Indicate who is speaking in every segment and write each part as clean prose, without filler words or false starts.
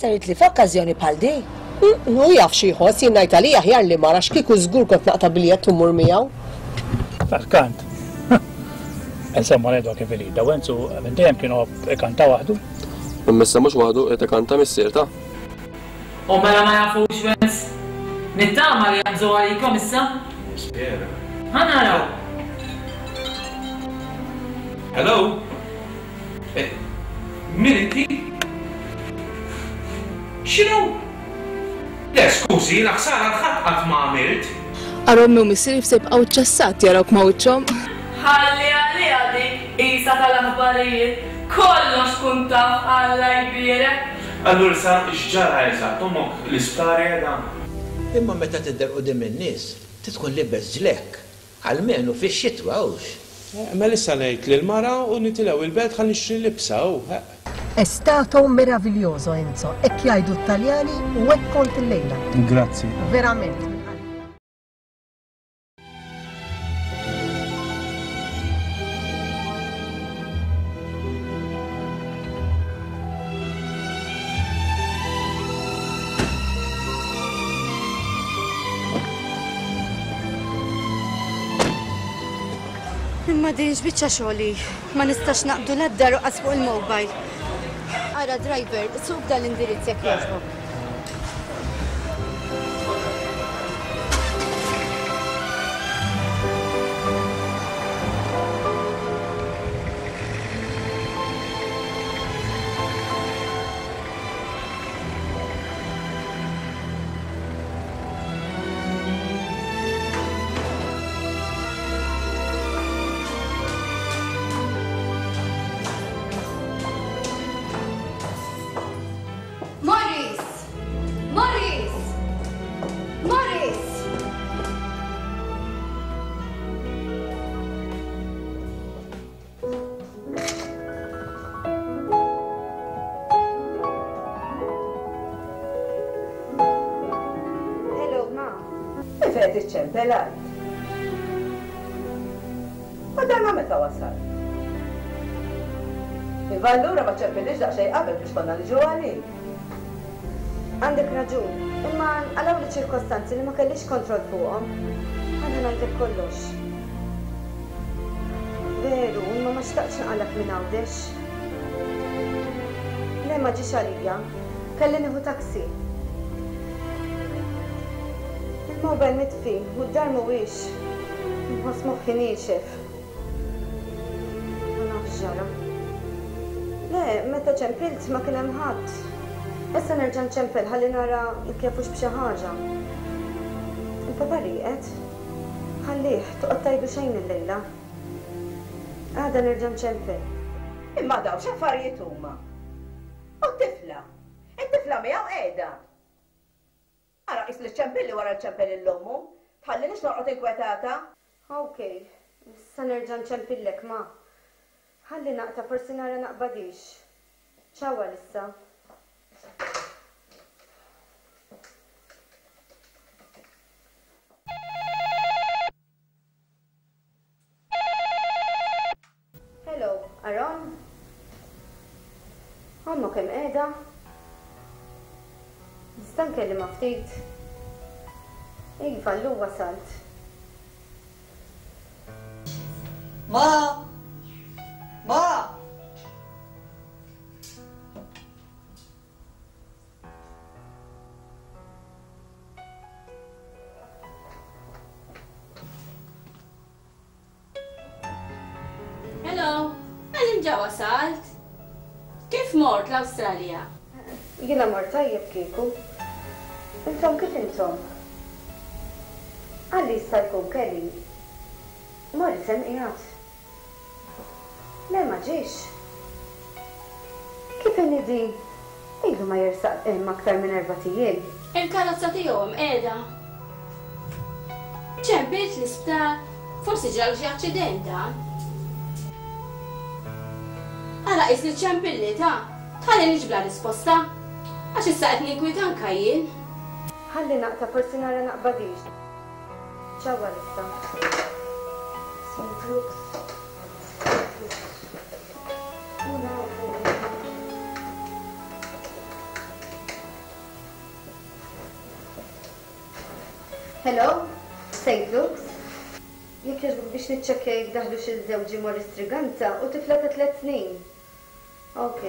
Speaker 1: Saritli f'okkażjoni bħal di.
Speaker 2: Hu jaf xi jħoss, jien ngħid għalija aħjar li mar għax kieku żgur kont naqta' biljett u mmur miegħu.
Speaker 3: Tal-kant. Insomma ngħidu kif inhi, da Wenzu minn dejjem kien iħobb ikanta waħdu.
Speaker 4: Imma issa mhux waħdu qed ikanta missier ta'.
Speaker 5: U mela ma jafux Wenz? Nittama li jaqbżu għalikom issa.
Speaker 6: Nispera.
Speaker 5: Ħa naraw.
Speaker 6: Hello? Min inti? X'inhu? Le, skużi, jiena ħsara 'l ħadd qatt ma għamilt.
Speaker 7: Ara ommi u missieri f'se jibqgħu ċċassati jarawk ma' wiċċhom.
Speaker 8: Ħalli għaliha dik qisha tal-aħbarijiet, kollox tkun taf Alla jbierek.
Speaker 6: Allura issa x'ġara eżatt? Ommok l-isptar qiegħda?
Speaker 9: Imma meta tidher quddiem in-nies, trid tkun liebes ġlekk. Almenu fix-xitwa, hux?
Speaker 6: Mela issa ngħid lill-mara u nitilgħu il-belt ħa nixtri libsa, hu, ħeqq.
Speaker 10: È stato meraviglioso Enzo, hekk jgħidu t-Taljani u hekk kont illejla.
Speaker 6: Grazzi.
Speaker 10: Verament minn qalbi.
Speaker 11: Imma din x'biċċa xogħol hi. Ma nistax naqbdu la d-dar u qas fuq il-mobile. Ara driver, suq dan l-indirizz jekk jogħġbok. Morris! Morris! Morris!
Speaker 1: Hello, ma. Kif qed iċċempel għad? U dana meta wasal? Iva allura ma ċempillix daqsxejn qabel biex konna niġu għalik.
Speaker 11: Għandek raġun, imma nqalgħuli ċirkostanzi li ma kellix kontroll fuqhom. Għada ngħidlek kollox. Veru, imma ma xtaqtx naqalgħek minn Għawdex. Le, ma ġiex għalija. Kelli nieħu taxi. Il-mobile mitfi u d-dar mhuwiex. Inħoss moħħi niexef. Ma nafx x'ġara. Le, meta ċempilt ma kien hemm ħadd. Issa nerġa' nċempel ħalli nara jekk jafux b'xi ħaġa. Il-papa rieqed. Ħallih, toqgħod tgħidlu xejn illejla. Għada nerġa' nċempel.
Speaker 1: Imma dawn x'affarijiet huma? U t-tifla? It-tifla miegħu qiegħda? Ara qis li ċċempilli wara li ċċempel lil ommu. Tħallinix norqod inkwetata.
Speaker 11: Ok, issa nerġa' nċempillek ma. Ħalli naqta' forsi nara naqbadhiex. Ciao għalissa. Hello, Aron? Ommok hemm qiegħda? Nista' nkellimha ftit? Iva, llum wasalt.
Speaker 1: Ma! Ma!
Speaker 8: Hello, għalim ġa wasalt? Kif mort l-Awstralja?
Speaker 11: Jiena mort tajjeb kieku. Intom kif intom? Qalli jista' jkun Kelly. Morris hemm qiegħed. Le ma ġiex. Kif inhi din? Ilu ma jersaq hemm aktar minn erbat ijiem.
Speaker 8: Il-karozza tiegħu hemm qiegħda. Ċempilt l-isptar, forsi ġralu xi aċċident dan. Ara qis li ċempilli ta, tħallinix bla risposta. Għax issa qed ninkwieta anka jien.
Speaker 11: Ħalli naqta' forsi nara naqbadhiex. Ciao għalissa. St. Luke's. St. Luke's. Hello? St. Luke's? Jekk jogħġbok biex niċċekkja jekk daħlux il żewġi Morris Triganza u tifla ta' tlett snin. Ok.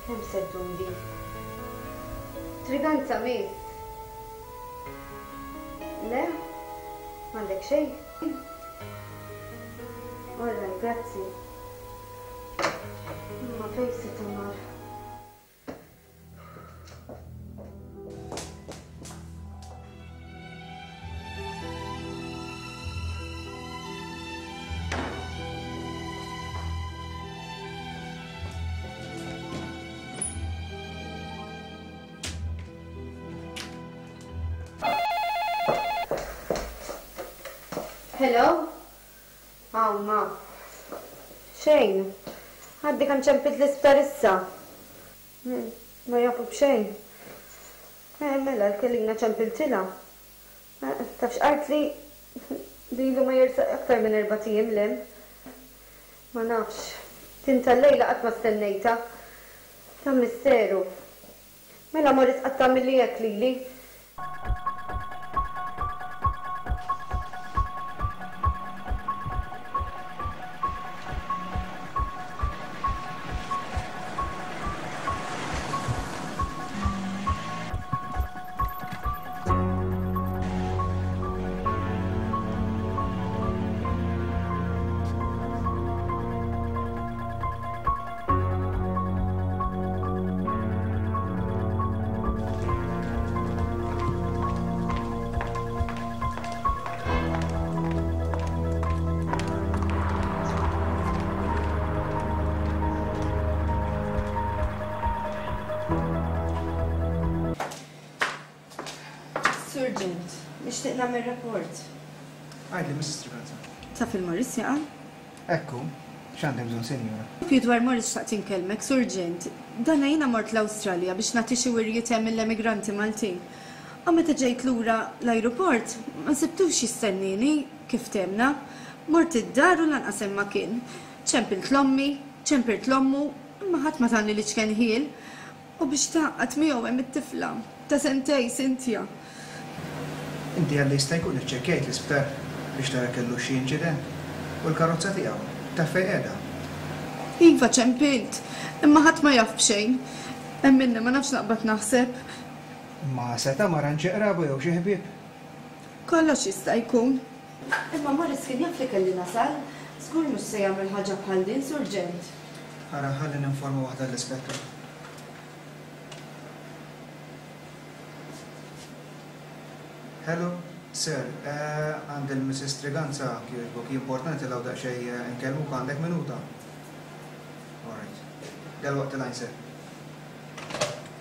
Speaker 11: Kemm se ddum din? Triganza, miss. Le? M'għandek xejn? All right, grazzi. Imma fejn se tamar? Hello? Hawn ma. Xejn. Għaddi kemm ċempilt l-isptar issa. Ma jafu b'xejn. Eh, mela, l-kelina ċempiltilha. Eh, taf x'qaltli? Li ilu ma jersaq aktar minn erbat ijiem 'l hemm. Ma nafx. Din tal-lejla qatt ma stennejtha. Ta' misteru. Mela Morris qatt tagħmilli hekk lili? Surġent, nixtieq nagħmel rapport.
Speaker 12: Għidli, Mrs. Triganza.
Speaker 11: Taf il-Morris jaqa'?
Speaker 12: Hekk hu. X'għandek bżonn, sinjura?
Speaker 11: Proprju dwar Morris xtaqt inkellmek, Surġent. Dana jiena mort l-Awstralja biex nagħti xi wirjiet hemm lill-emigranti Maltin. U meta ġejt lura l-ajruport, ma sibtux jistennieni, kif ftehmna. Mort id-dar u lanqas hemm ma kien. Ċempilt 'l ommi, ċempirt 'l ommu, imma ħadd ma tani l-iċken ħjiel. U biex tgħaqqad miegħu hemm it-tifla ta' sentejn, Cynthia.
Speaker 12: Inti għalli jista' jkun iċċekkjajt l-isptar biex tara kellux xi inċident? U l-karozza tiegħu, taf fejn qiegħda?
Speaker 7: Iva, ċempilt, imma ħadd ma jaf b'xejn. Emminni, ma nafx naqbad naħseb.
Speaker 12: Imma seta' mar għand xi qrabu jew xi ħbieb?
Speaker 7: Kollox jista' jkun.
Speaker 11: Imma Morris kien jaf li kelli nasal. Żgur mhux se jagħmel ħaġa bħal din, Surġent.
Speaker 12: Ara, ħalli ninforma waħda lill-ispettur. Hello, sir, għand il-Mrs Triganza, kieġbok, jimporta nitilgħu daqsxejn inkellmuk, għandek minuta? All right. Dalwaqt tilgħin, sir.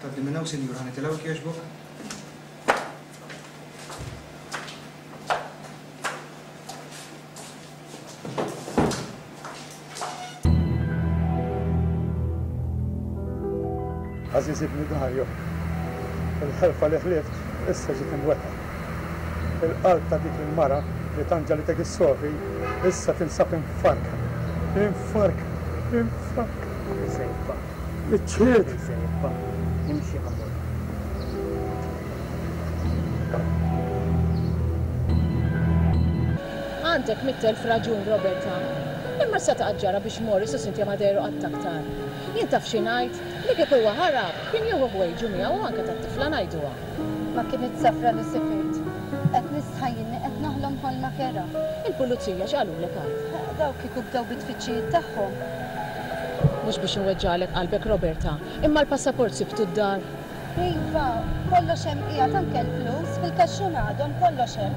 Speaker 12: Tgħaddi minn hawn, sinjura, ħa nitilgħu jekk jogħġbok?
Speaker 13: Għażiż ibni Dario, il-ħelfa li ħlift issa ġiet imwettqa. Il-qalb ta' dik il-mara li tant ġagħlitek issofri issa tinsab imfarrka. Imfarrka! Imfarrka!
Speaker 3: Biżżejjed pa.
Speaker 13: Iċ-ċiet!
Speaker 3: Biżżejjed pa. Imxi ħa mmorru.
Speaker 2: Għandek 100,000 raġun, Roberta. Imma x'seta' qatt ġara biex Morris u Cynthia ma dehru qatt aktar? Jien taf xi ngħid? Li kieku huwa ħarab, kien jieħu ħwejġu miegħu u anke tat-tifla ngħiduha.
Speaker 11: Ma kinitx safra li sifirt. Qed nistħajjilni qed noħlom ħolma kerha.
Speaker 2: Il-pulizija x'qalulek għid?
Speaker 11: Dawk kieku bdew bit-tfittxijiet tagħhom.
Speaker 2: Mhux biex inweġġagħlek qalbek, Roberta, imma l-passaport sibtu d-dar?
Speaker 11: Iva, kollox hemm qiegħed anke l-flus, fil-kaxxun għadhom kollox hemm.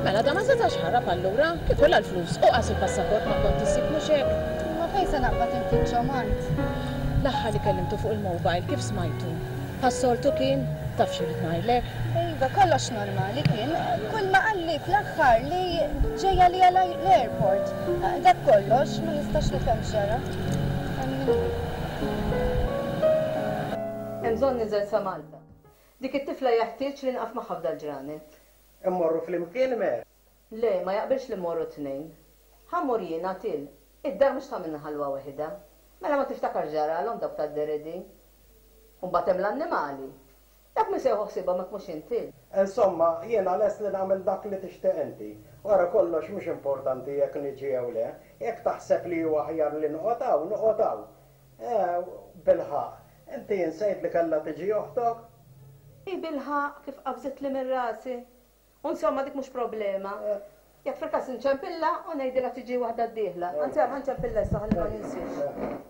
Speaker 2: Mela dan ma setax ħarab allura, kieku la l-flus u qas il-passaport ma kont issib mhux hekk?
Speaker 11: Imma fejn se naqbad infittxhom għand?
Speaker 2: L-aħħar li kellimtu fuq il-mobile kif smajtu? Bħas-soltu kien? Taf xi rrid ngħidlek?
Speaker 11: Iva, kollox normali kien. Kull ma qalli fl-aħħar li ġej għalija l-airport. Dak kollox, ma nistax nifhem x'ġara. Emminni.
Speaker 1: Hemm bżonn ninżel sa Malta. Dik it-tifla jeħtieġ li nieqaf magħha f'dal-ġranet.
Speaker 14: Immorru flimkien, Mer?
Speaker 1: Le, ma jaqbilx li mmorru t-tnejn. Ħa mmur jiena, Till. Id-dar mhux tagħmilna ħalwa weħidha. Mela ma tiftakarx x'ġaralhom dawk tad-Deredi? U mbagħad hemm l-annimali. Dak min se jieħu ħsiebhom jekk mhux inti?
Speaker 14: Insomma, jiena lest li nagħmel dak li tixtieq inti. Wara kollox mhux importanti jekk niġi jew le. Jekk taħseb li hu aħjar li noqgħod hawn, noqgħod hawn. Eh, bilħaqq, inti insejt li kellha tiġi oħtok?
Speaker 1: Hi bilħaqq, kif qabżitli minn rasi. U insomma dik mhux problema. Jekk fil-każ inċempilha u ngħidilha tiġi waħda d-dieħla. Anzi ħa nċempilha issa ħalli ma ninsiex.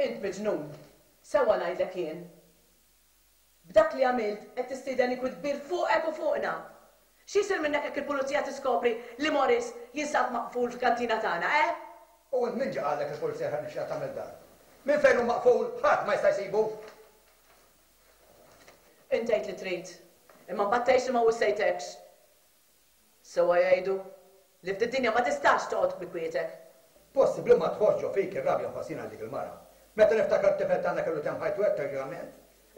Speaker 5: Int miġnun, sewwa ngħidlek jien. B'dak li għamilt qed tistieden inkwiet kbir fuqek u fuqna. Xi jsir minnek jekk il-pulizija tiskopri li Morris jinsab maqful fil-kantina tagħna, eh?
Speaker 15: U int min ġie qallek li l-pulizija ħa rnexxilha tagħmel dan? Minn fejn hu maqful ħadd ma jista' jsibu!
Speaker 5: Int għid li trid, imma mbagħad tgħidx li ma wissejtekx. Sewwa jgħidu li f'did-dinja ma tistax toqgħod bi kwietek.
Speaker 15: Possibbli ma tħossx ġo fik ir-rabja nħoss jien għal dik il-mara? Meta niftakar t-tifel tagħna kellu temm ħajtu hekk traġikament.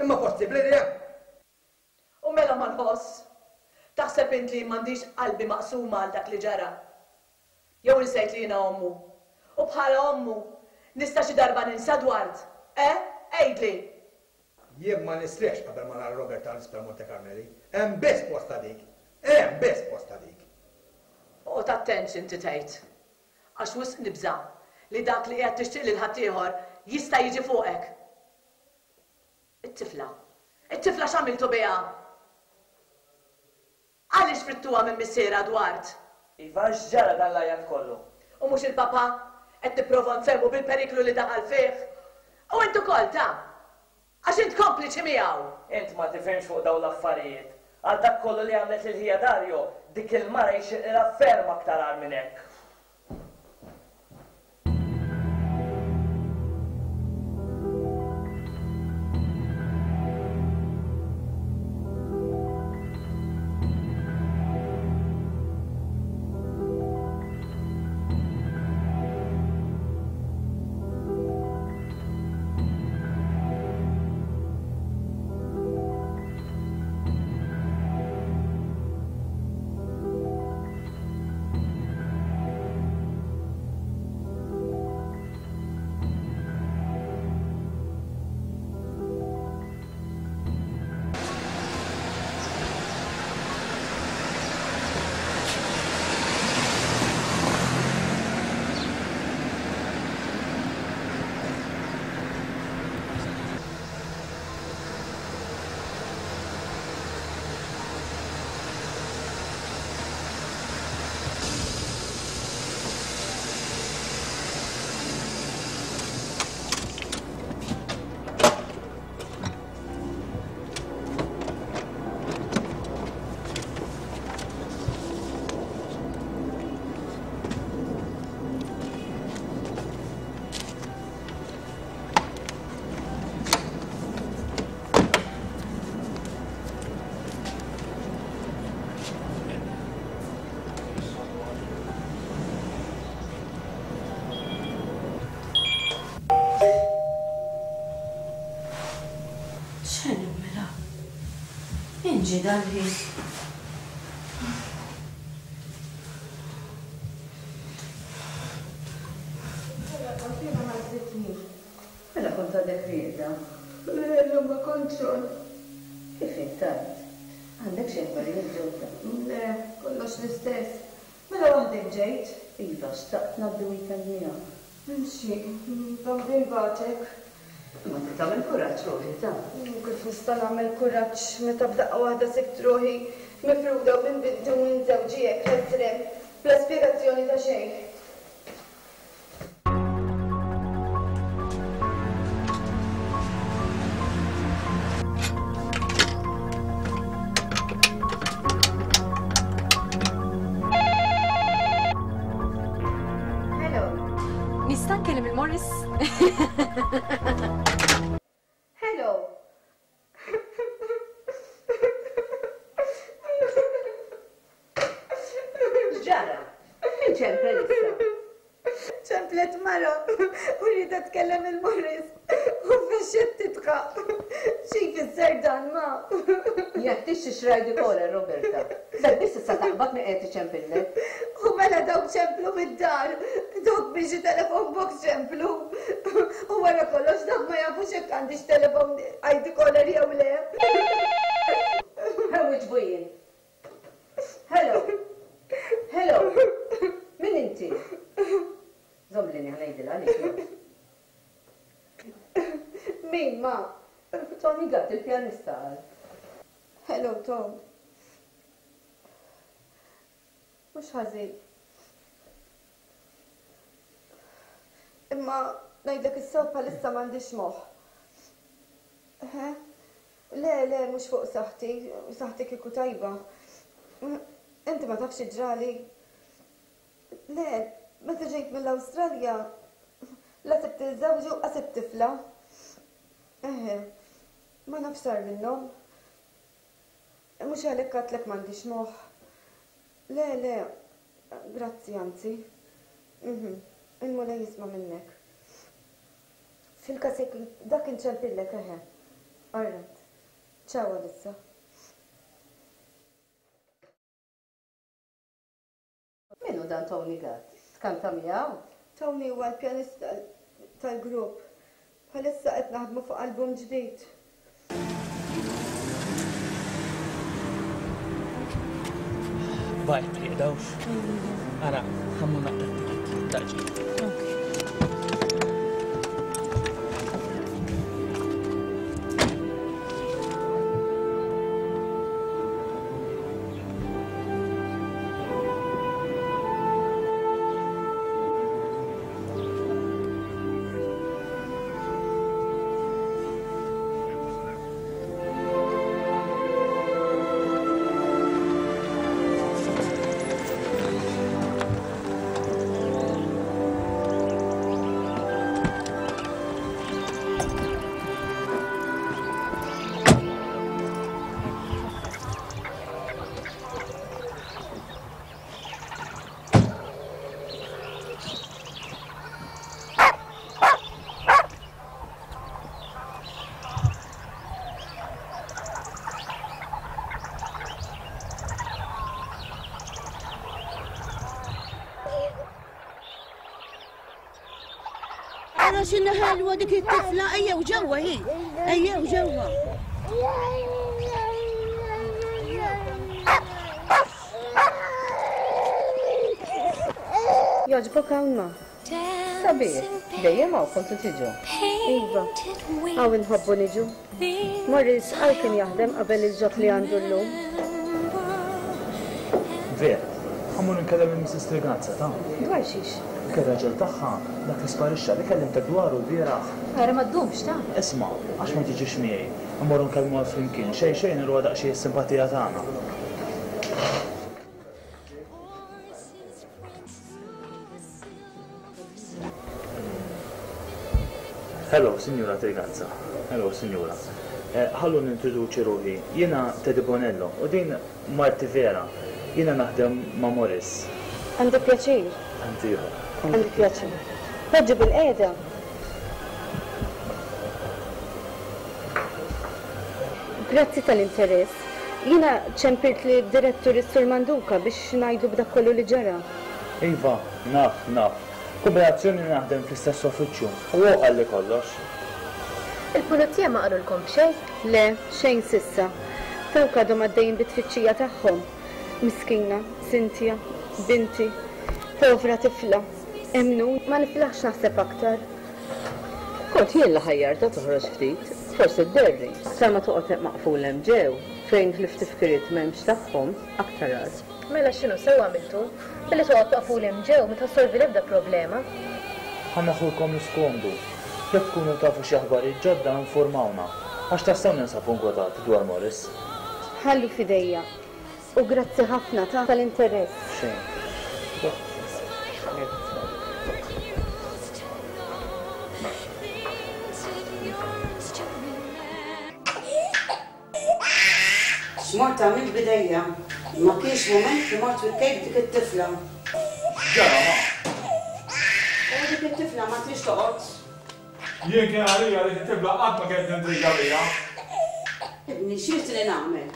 Speaker 15: Imma possibbli li hemm.
Speaker 5: U mela ma nħoss? Taħseb int li jien m'għandix qalbi maqsuma għal dak li ġara? Jew insejt li jiena ommu? U bħala ommu, nista' xi darba ninsa Dward? Eh? Għidli!
Speaker 15: Jien ma nistrieħx qabel ma nara Roberta l-Isptar Monte Carmeli. Hemm biss post għalik. Hemm biss post għalik.
Speaker 5: Oqgħod attent x'inti tgħid. Għax wisq nibża' li dak li qiegħed tixtieq lil ħaddieħor jista' jiġi fuqek. It-tifla. It-tifla x'għamiltu biha? Għaliex fridtuha minn missierha, Dward?
Speaker 16: Iva, x'ġara dan l-għajat kollu?
Speaker 5: U mhux il-papà? Qed nipprova nfehmu bil-periklu li daħal fih. U int ukoll, ta! Għax int kompliċi miegħu!
Speaker 16: Int ma tifhimx fuq dawn l-affarijiet. Għal dak kollu li għamlet lil ħija Dario, dik il-mara jixirqilha ferm aktar agħar minn hekk.
Speaker 8: X'ħelu mela? Min ġie dal-ħin?
Speaker 7: Mela kont jiena ħażżitni.
Speaker 1: Mela kont għadek rieqda?
Speaker 7: Le, llum ma kontx xogħol.
Speaker 1: Kif int tgħid? Għandek xi aħbarijiet ġodda?
Speaker 7: Le, kollox l-istess. Mela waħdek ġejt?
Speaker 1: Iva, xtaqt ngħaddi weekend miegħek.
Speaker 7: Xi, Bambin bagħtek.
Speaker 1: Imma trid tagħmel kuraġġ ruħi, ta.
Speaker 7: U kif nista' nagħmel kuraġġ meta f'daqqa waħda sibt ruħi mifruda minn binti u minn żewġi hekk ħesrem, bla spjegazzjoni ta' xejn.
Speaker 1: Hello.
Speaker 17: Nista' nkellem il-Morris?
Speaker 1: Hello. X'ġara? Min ċempel issa?
Speaker 7: Ċemplet mara u riedet tkellem il-Morris u fexxet tidħaq. Xi jfisser dan, ma?
Speaker 1: Jeħtieġ tixraj dikola, Roberta. Dak biss issa taqbad min qiegħed iċempillek.
Speaker 7: U mela dawk ċemplu mid-dar, dawk minn xi telephone box ċemplu. U wara kollox dawk ma jafux jekk għandix telephone ID caller jew le.
Speaker 1: Ħa nwieġbu jien. Hello. Hello. Min inti? Żomm linja ħa ngħidilha għaliex jgħodd.
Speaker 7: Min, ma?
Speaker 1: Tony Gatt, il-pjanista qal.
Speaker 7: Hello Tom. Mhux ħażin. Imma ngħidlek is-sew bħalissa m'għandix moħħ. Eħe. Le, le, mhux fuq saħħti, saħħti kieku tajba. Inti ma tafx xi ġrali. Le, meta ġejt mill-Awstralja la sibt 'il żewġi u qas it-tifla. Eħe. Ma nafx x'sar minnhom. Mhux għalhekk għedtlek m'għandix moħħ. Le, le, grazzi anzi. Mhm, il-Mulej jisma' minnek. Fil-każ jekk dak inċempillek eħe. All right. Ciao għalissa.
Speaker 1: Min hu dan Tony Gatt? Tkanta miegħu?
Speaker 7: Tony huwa l-pjanist tal-grupp. Bħalissa qed naħdmu fuq album ġdid.
Speaker 6: Bye, triq dawx. Ara, ħammur naqta' t-ticket. Daqġi.
Speaker 18: Ara x'inhi ħelwa dik it-tifla, ejjew ġewwa hi. Ejjew ġewwa.
Speaker 11: Jogħġbok hawn ma?
Speaker 1: Sabiħ, dejjem hawn kontu tiġu.
Speaker 11: Iva, hawn inħobbu niġu. Morris hawn kien jaħdem qabel il-ġob li għandu llum.
Speaker 3: Ver, ħa mmur inkellem lil Mrs. Treganza, ta?
Speaker 11: Dwar xiex?
Speaker 3: Dik ir-raġel tagħha, dak li sparixxa, li kellimtek dwaru lbieraħ.
Speaker 2: Ara ma ddumx, ta?
Speaker 3: Isma', għax ma tiġix miegħi? Immorru nkellmuha flimkien, xejn xejn nuruha daqsxejn is-simpatija tagħna. Hello, Sinjura Triganza. Hello, Sinjura. Eh, ħallu nintroduċi ruħi. Jiena Teddy Bonello u din marti Vera. Jiena naħdem ma' Morris.
Speaker 11: Għandi pjaċir.
Speaker 3: Għandi ieħor.
Speaker 11: Għandi pjaċir. Poġġi bil-qiegħda. Grazzi tal-interess. Jiena ċempilt lid-direttur is-Sur Manduca biex ngħidlu b'dak kollu li ġara.
Speaker 3: Iva, naf, naf. Kombinazzjoni li naħdem fl-istess uffiċċju u hu qalli kollox.
Speaker 17: Il-pulizija ma qalulkom b'xejn?
Speaker 11: Le, xejn s'issa.
Speaker 7: Dawk għadhom għaddejjin bit-tfittxija tagħhom. Miskina, Cynthia, binti, povra tifla. Emmnu, ma niflaħx naħseb aktar.
Speaker 1: Kont jien li ħajjartha toħroġ ftit, forsi dderri. Aktar ma toqgħod hemm maqful hemm ġew, fejn ħlief tifkiriet m'hemmx tagħhom, aktar agħar.
Speaker 19: Mela x'inhu, sewwa għamiltu? Billi toqgħod maqful hemm ġew ma tħa ssolvi l-ebda problema.
Speaker 3: Ħa neħulkom l-iskomdu. Jekk tkunu tafu xi aħbarijiet ġodda infurmawna, għax tassew ninsabu nkwetati dwar Morris.
Speaker 7: Ħallu f'idejja. U grazzi ħafna ta' tal-interess.
Speaker 3: Xejn.
Speaker 18: X'mort għamilt b'idejja? Ma kienx mument li mort wikkejt dik it-tifla.
Speaker 6: X'ġara ma?
Speaker 18: U dik it-tifla ma tridx toqgħod.
Speaker 6: Jien kien għalija dik it-tifla qatt ma kienet tintriga bija.
Speaker 18: Ibni, x'ridtni nagħmel?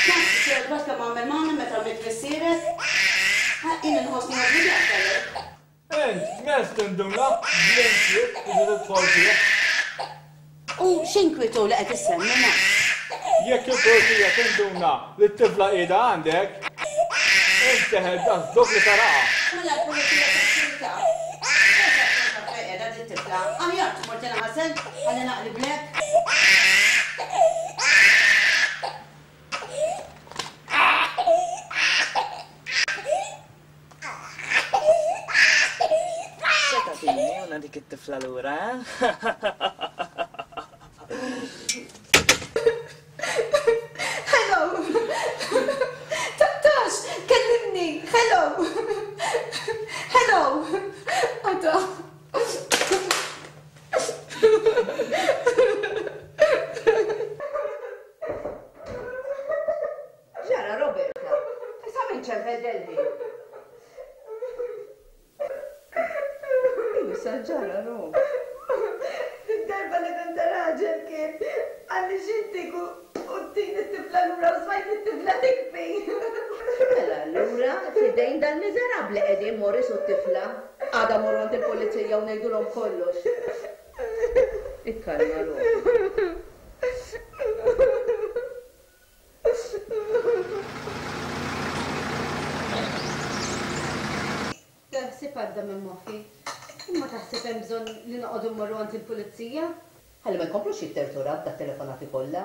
Speaker 18: Taf Sur Edward kemm għamel magħna meta miet missierek? Ha, jien inħossni obbligat għalhekk.
Speaker 6: Int mess tinduna bl-inkwiet li se tidħol fih.
Speaker 18: U x'inkwiet hu li qed issemmi, ma?
Speaker 6: Jekk il-pulizija tinduna li t-tifla qiegħda għandek, int teħel daqs dok li taraha.
Speaker 18: Mela l-pulizija se ssir taf. Eżatt tkun taf fejn qiegħda dit-tifla. Aħjar tmur tinħasel ħalli naqliblek.
Speaker 16: Se tagħtini u nagħtik it-tifla lura, eh?
Speaker 7: Hello! Taqtax! Kellimni! Hello! Hello! Għada.
Speaker 1: Ġara Roberta, issa min ċempel delli? Issa ġara ro.
Speaker 7: Id-darba li benta raġel kien għalli xintik u tini t-tifla lura u smajt it-tifla tikbi.
Speaker 1: Mela allura f'idejn dal-miżerabbli qegħdin Morris u t-tifla. Għada mmorru għand il-pulizija u ngħidulhom kollox. Ikkalma ruħek.
Speaker 7: Dal-ħsieb għadda minn moħħi. Imma taħseb hemm bżonn li noqogħdu mmorru għand il-pulizija?
Speaker 1: Ħalli ma jkomplux jitterturak b'dat-telefonati kollha.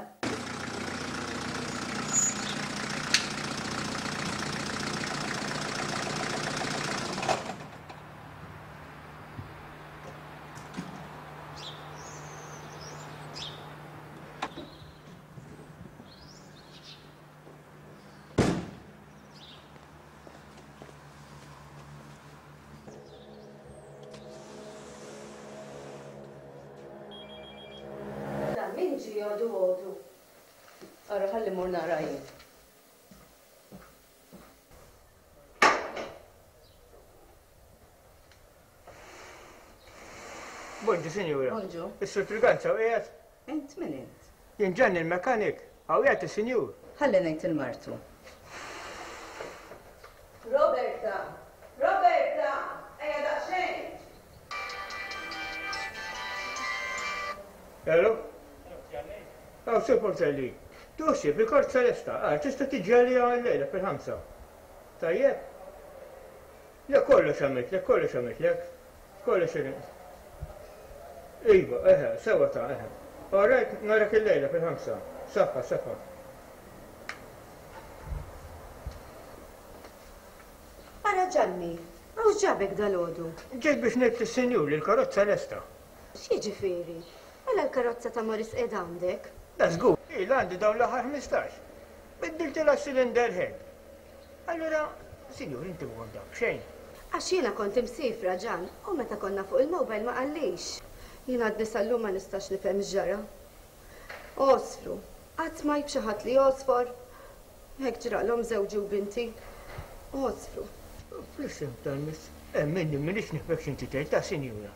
Speaker 7: Dan min ġie għodu għodu?
Speaker 1: Ara ħalli mmur nara jien.
Speaker 15: Bonġu, sinjura.
Speaker 1: Bonġu.
Speaker 15: Is-Sur Triganza hawn qiegħed?
Speaker 1: Int min int?
Speaker 15: Jien Ġanni l-mekanik. Hawn qiegħed is-sinjur.
Speaker 1: Ħalli ngħid 'il martu. Roberta! Roberta! Ejja daqsxejn!
Speaker 15: Hello? Hawn Sur Portelli. Tieħu ħsieb il-karozza lesta, ara tista' tiġi għaliha llejla fil-ħamsa. Tajjeb? Le kollox għamiltlek, kollox għamiltlek. Kollox Iva, eħe, sewwa ta' eħe. All right, narak illejla fil-ħamsa. Saħħa, saħħa.
Speaker 7: Ara Ġanni, hawn x'ġabek dalgħodu?
Speaker 15: Ġejt biex ngħid lis-sinjur li l-karozza lesta.
Speaker 7: X'jiġifieri? Mela l-karozza ta' Morris qiegħda għandek?
Speaker 15: Da żgur, ilha għandi dawn l-aħħar 15. Biddiltilha s-cylinder head. Allura, sinjur, inti ma kont taf b'xejn?
Speaker 7: Għax jiena kont imsiefra, Ġan, u meta konna fuq il-mobile ma qallix. Jien għadni sal-lum ma nistax nifhem x'ġara. Għosfru. Qatt smajt b'xi ħadd li għosfor? Hekk ġralhom żewġi u binti. Għosfru.
Speaker 15: Fl-isem tal-Miss, emminni m'iniex nifhmek x'inti tgħid, ta' sinjura.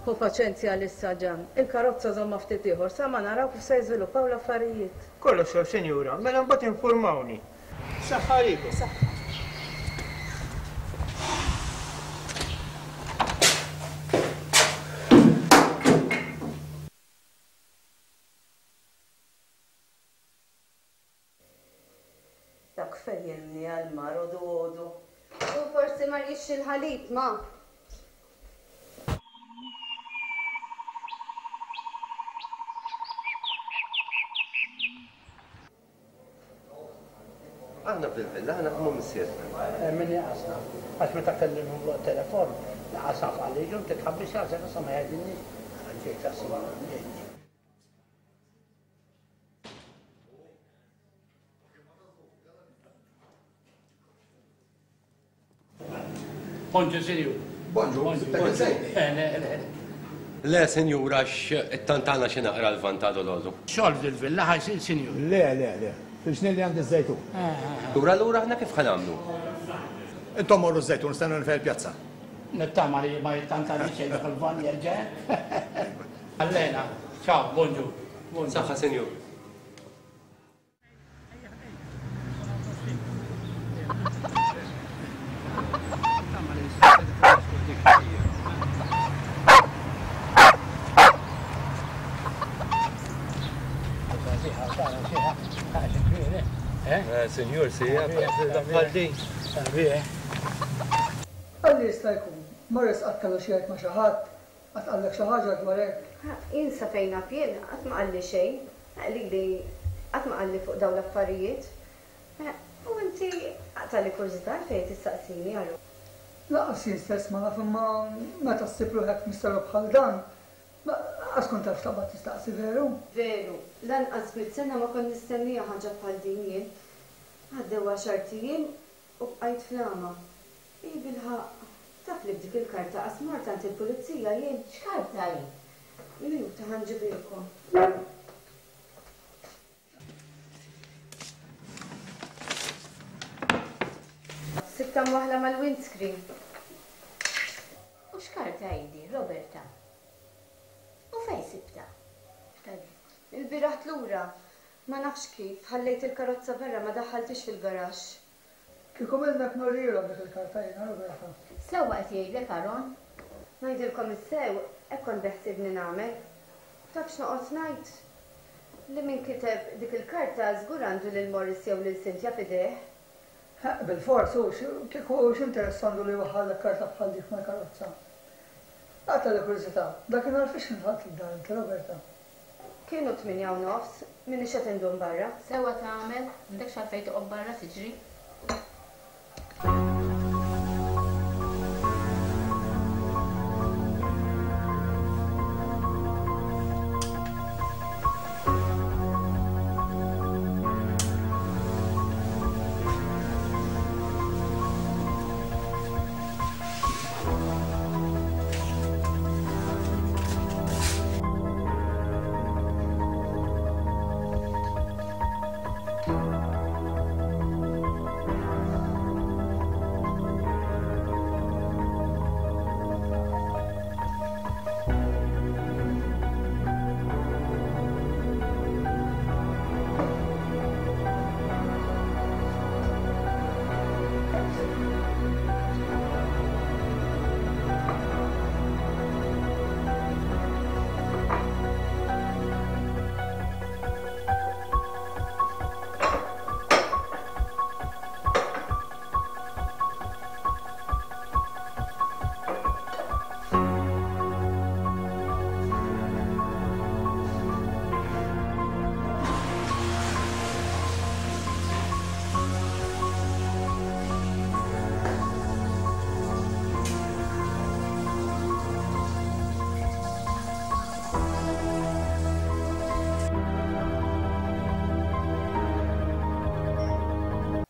Speaker 1: Ħu paċenzja għalissa, Ġan. Il-karozza żommha ftit ieħor sa ma naraw kif se jiżviluppaw l-affarijiet.
Speaker 15: Kollox sew, sinjura. Mela mbagħad infurmawni. Saħħa għalikom.
Speaker 1: Saħħa. Dak fejjilni għall-mar għodu għodu.
Speaker 7: U forsi mar jixtri l-ħalib, ma.
Speaker 20: Aħna fil-villa ħa naħdmu missierna.
Speaker 21: Hemm min jaqasna. Għax meta kellimhom fuq it-telefon, lanqas naf qalli jiġu, inti tħabbix rasek issa ma jgħidilniex. Ġejt għas-sima ġejt.
Speaker 22: Bonġu, sinjur.
Speaker 23: Bonġu, bonġu.
Speaker 20: Le, sinjur, għax ittantana xi naqra l-van ta' dolodu.
Speaker 22: Xogħol fil-villa ħa jsir, sinjur.
Speaker 6: Le, le, le. Fil-ġnien li għandi ż-żejtun.
Speaker 20: Lura lura aħna kif ħa nagħmlu?
Speaker 6: Intom morru ż-żejtun, stennu nifel il-pjazza.
Speaker 22: Nittama li ma jittantani xejn dak il-van jerġa'. Allena, ciao, bonġu.
Speaker 20: Saħħa, sinjur. Sinjur, sija, bħal din.
Speaker 10: Qalli jista' jkun, Morris qatt kellu xi jgħid ma' xi ħadd, Qatt qallek xi ħaġa dwar hekk?
Speaker 7: Jien sa fejn naf jien qatt ma qalli xejn. Lili qatt ma qalli fuq dawn l-affarijiet. U inti aqtagħli kurżità għalfejn qed issaqsini, Aron?
Speaker 10: Lanqas jien stess ma naf imma meta ssib ruħek f'misteru bħal dan, lanqas tkun taf x'taqbad tistaqsi, veru?
Speaker 7: Veru, lanqas f'mitt sena ma kont nistenniha ħaġa bħal din jien. Għaddew għaxart ijiem u bqajt fl-għama. Hi bilħaqq. Taf li b'dik il-karta qas mort għand il-pulizija jien.
Speaker 24: X'karta hi?
Speaker 7: Minuta ħa nġibilkom. Sibtha mwaħħla mal-windscreen.
Speaker 24: U x'karta hi din, Roberta? U fejn sibtha?
Speaker 7: Il-bieraħ lura. Ma nafx kif, ħallejt il-karozza barra ma daħħalthiex fil-garaxx.
Speaker 10: Kieku minnek nurielhom dik il-karta jiena, Roberta.
Speaker 24: Sewwa qed jgħidlek Aaron.
Speaker 7: Ngħidilkom is-sew, hekk kont beħsiebni nagħmel. Taf x'noqgħod ngħid? Li min kiteb dik il-karta żgur għandu lil Morris jew lil Cynthia f'idejh.
Speaker 10: Ħeqq, bilfors, hux, kieku x'interess għandu li jwaħħallek karta bħal dik mal-karozza? Qatgħali kurżità, dakinhar fiex kien dħalt id-dar inti, Roberta?
Speaker 7: Kienu t-tmienja u nofs, m'iniex qed indum barra.
Speaker 24: Sewwa tagħmel, m'għandekx għalfejn toqgħod barra tiġri.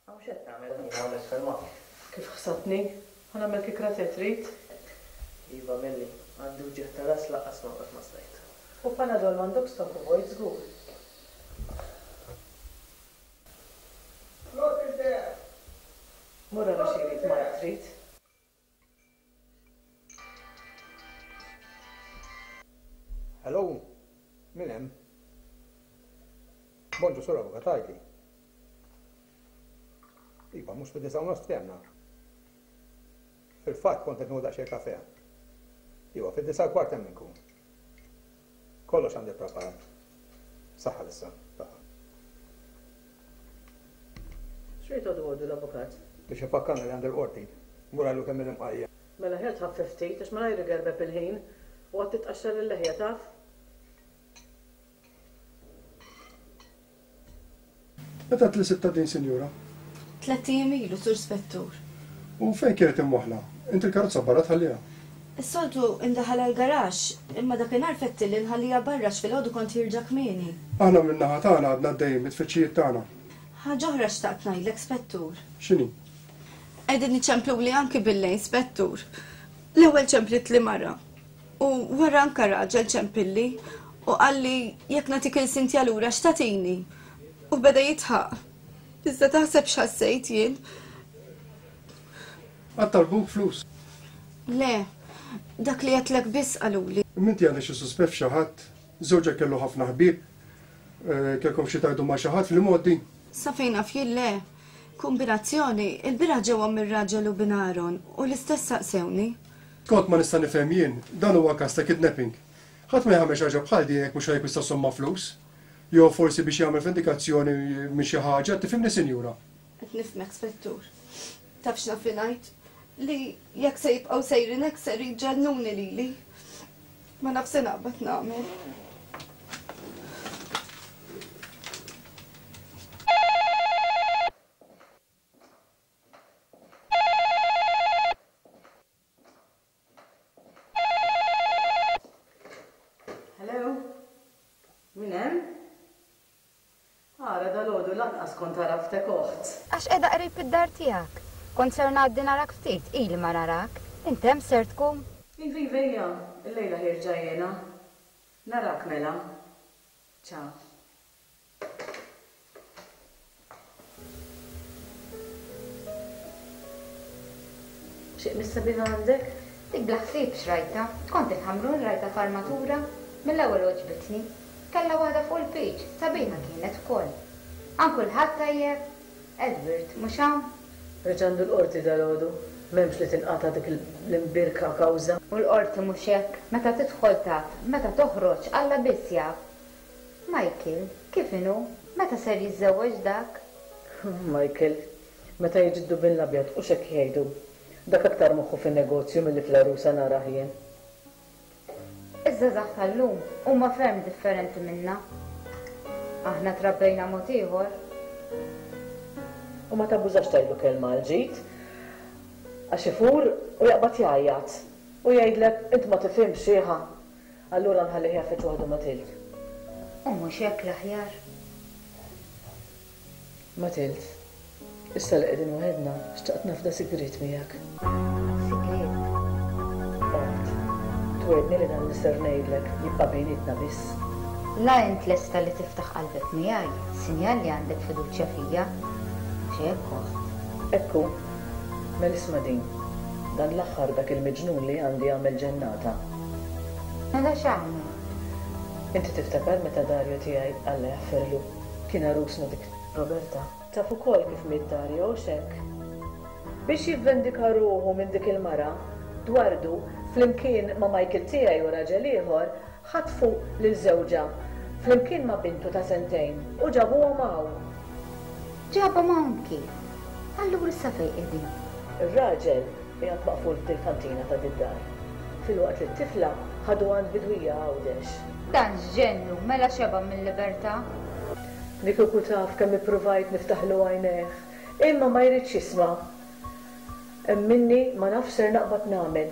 Speaker 5: Hawn x'qed tagħmel Nina hawn isfel ma? Kif ħsabtni? Ħa nagħmel kikra te trid? Iva Milly, għandi wġigħ ta' ras lanqas norqod ma stajt. U panadol m'għandokx stonku vojt żgur. Mur ara xi jrid Mark trid.
Speaker 6: Hello, min hemm? Bonġu Sur Avukat, għidli. Iva, mhux fid-disgħa u nofs ftehemna. Fil-fatt kont qed nieħu daqsxejn kafè. Iva, fid-disgħa u kwart hemm inkun. Kollox għandi ppreparat. Saħħa l-issa. Saħħa.
Speaker 5: X'ried għodu għodu l-avukat?
Speaker 15: Biex ifakkarna li għandi l-qorti. Mur għidlu kemm il-imqajjem.
Speaker 5: Mela aħjar tħaffef ftit għax malajr igerbeb il-ħin u għad titqaxxar il-leħja taf.
Speaker 13: Meta għedt li sibtha din sinjura?
Speaker 7: Tlett ijiem ilu, Sur Spettur.
Speaker 13: U fejn kienet imwaħħla? Inti l-karozza barra tħalliha?
Speaker 7: Is-soltu indaħħalha l-garaxx, imma dakinhar fettilli nħalliha barra għax filgħodu kont ħierġa kmieni.
Speaker 13: Aħna min-naħa tagħna għadna għaddejjin mit-tfittxijiet tagħna.
Speaker 7: Ħaġa oħra xtaqt ngħidlek, Spettur.
Speaker 13: X'inhi?
Speaker 7: Qegħdin iċempluli anki bil-lejl, Spettur. L-ewwel ċemplitli mara. U wara anka raġel ċempilli u qalli jekk nagħtik il Cynthia lura x'tagħtini? U beda jidħaq. Iżda taħseb x'ħassejt jien?
Speaker 13: Qatt talbuk flus?
Speaker 7: Le, dak li għedtlek biss qaluli.
Speaker 13: Imma inti għandek xi suspett f'xi ħadd? Żewġek kellu ħafna ħbieb? Kellkom xi tgħidu ma' xi ħadd fl-imgħoddi?
Speaker 7: Sa fejn naf jien le. Kumbinazzjoni, ilbieraħ ġew omm ir-raġel u bin Aaron u l-istess saqsewni.
Speaker 13: Skont ma nista' nifhem jien, dan huwa każ ta' kidnapping. Ħadd ma jagħmel xi ħaġa bħal din jekk mhux ħa jakkwista somma flus. Jew forsi biex jagħmel vendikazzjoni minn xi ħaġa, tifhimni sinjura?
Speaker 7: Qed nifhmek, Spettur. Taf x'naf li ngħid? Li jekk se jibqgħu sejrin hekk ser jġennuni lili. Ma naf se naqbad nagħmel.
Speaker 5: Hello? Min hemm? Ara dalgħodu lanqas kont għaraftek oħt.
Speaker 24: Għax qiegħda qrib id-dar tiegħek. Kont ser ngħaddi narak ftit, ili ma narak. Int hemm ser tkun?
Speaker 5: Iva iva ejja, illejla ħierġa jiena. Narak mela. Ciao. Xi qmis sabiħa għandek?
Speaker 24: Dik bla ħsieb xrajtha. Kont il-Ħamrun rajtha f'armatura. Mill-ewwel għoġbitni. Kellha waħda fuq il-piċ, sabiħa kienet ukoll. Hawn kulħadd tajjeb? Edward mhux hawn?
Speaker 5: Reġa' għandu l-qorti dalgħodu. M'hemmx li tinqata' dik l-imbierka kawża.
Speaker 24: U l-qorti mhux hekk? Meta tidħol taf, meta toħroġ Alla biss jaf. Michael, kif inhu? Meta ser jiżżewweġ dak?
Speaker 5: Michael, meta jiġi d-dubien l-abjad hux hekk jgħidu. Dak aktar moħħu fin-negozju milli fl-għarusa narah jien.
Speaker 24: Iż-żgħażagħ tal-lum huma ferm differenti minna. Aħna trabbejna mod ieħor.
Speaker 5: U ma tabbużax tgħidlu kelma għall-ġid, għax ifur u jaqbad jgħajjat u jgħidlek int ma tifhimx xiħa. Allura nħallih jgħaffeġ waħdu Matild.
Speaker 24: U mhux hekk l-aħjar?
Speaker 5: Matild, issa li qegħdin waħedna, xtaqt nafda sigriet miegħek.
Speaker 24: Sigriet?
Speaker 5: Oħt, twegħidni li dan li ser ngħidlek jibqa' bejnietna biss?
Speaker 24: La int lesta li tiftaħ qalbek miegħi, sinjal li għandek fiduċja fija. Mhux hekk, oħt?
Speaker 5: Hekk hu. Mela isma' din. Dan l-aħħar dak il-miġnun li għandi għamel ġennata.
Speaker 24: Mela x'għamel?
Speaker 5: Inti tiftakar meta Dario tiegħi, Alla jaħfirlu, kien għarus ma' dik Roberta? Taf ukoll kif miet Dario, hux hekk? Biex jivvendika ruħu minn dik il-mara, Dwardu, flimkien ma' Michael tiegħi u raġel ieħor, ħatfu lil żewġha, flimkien ma' bintu ta' sentejn, u ġabuhom hawn.
Speaker 24: Ġabhom hawn kif? Allura issa fejn qegħdin?
Speaker 5: Ir-raġel qiegħed maqful f'dil-kantina ta' did-dar, filwaqt li t-tifla ħaduha għand bidwija Għawdex.
Speaker 24: Dan x'ġennu, mela xeba' mil-libertà?
Speaker 5: Li kieku taf kemm ippruvajt niftaħlu għajnejh, imma ma jridx jisma'. Emminni ma nafx x'ser naqbad nagħmel.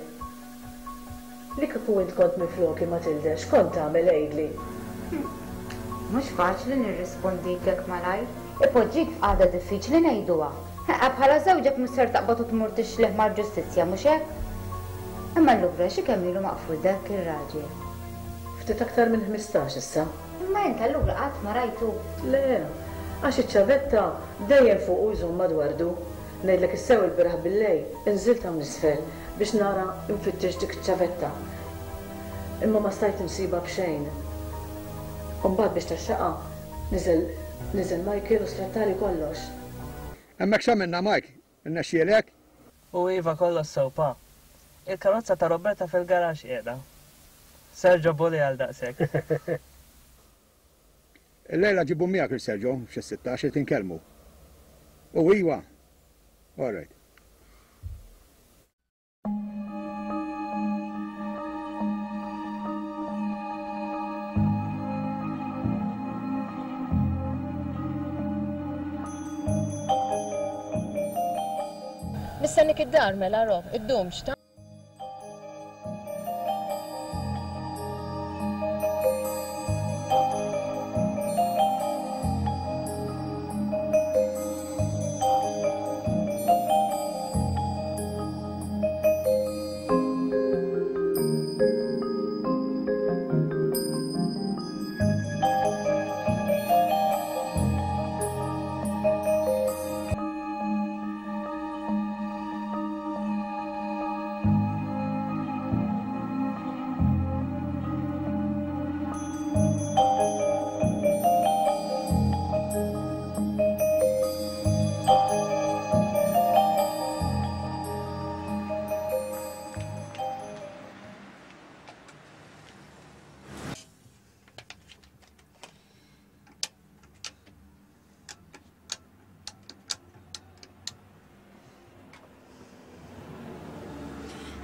Speaker 5: Li kieku int kont minfloki Matilde, x'kont tagħmel għidli?
Speaker 24: Hm. Mhux faċli nirrispondik hekk malajr. Ipoġġik f'qagħda diffiċli ngħiduha. Heqqa bħala żewġek mhux ser taqbad u tmur tixlih mal-ġustizzja, mhux hekk? Imma allura xi kemm ilu maqful dak ir-raġel?
Speaker 5: Ftit aktar minn 15 issa.
Speaker 24: Imma int allura qatt ma rajtu?
Speaker 5: Le, għax iċ-ċavetta dejjem fuqu jżommha Dwardu. Ngħidlek is-sew ilbieraħ billejl inżilt hawn isfel biex nara nfittex dik iċ-ċavetta. Imma ma stajt insibha b'xejn. U mbagħad biex tgħaxxaqha niżel niżel Michael u strattali kollox.
Speaker 15: Hemmhekk x'għamilna Mike? Irnexxielek?
Speaker 16: U iva kollox sew pa. Il-karozza ta' Roberta fil-garaxx qiegħda. Sergio bully għal daqshekk.
Speaker 15: Illejla ġibu miegħek lil Sergio f'xi s-sitta għax irid inkellmu.
Speaker 4: U iwa. All right.
Speaker 2: Nistennik id-dar mela Rob, iddumx ta?